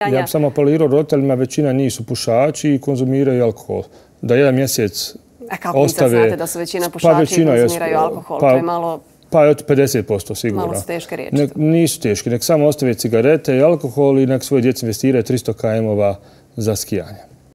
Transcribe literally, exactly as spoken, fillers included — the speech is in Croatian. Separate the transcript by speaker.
Speaker 1: Ja bih samo apelirao roditeljima, većina njih su pušači i konzumiraju alkohol. Da jedan mjesec ostave...
Speaker 2: A kako mi sad znate da su većina pušači i konzumiraju alkohol? To je malo...
Speaker 1: Pa je od pedeset posto sigurno.
Speaker 2: Malo su teške riječi.
Speaker 1: Nisu teške. Nek samo ostave cigarete i alkohol i nek svoje djeci investiraju tristo kilometara za skijanje.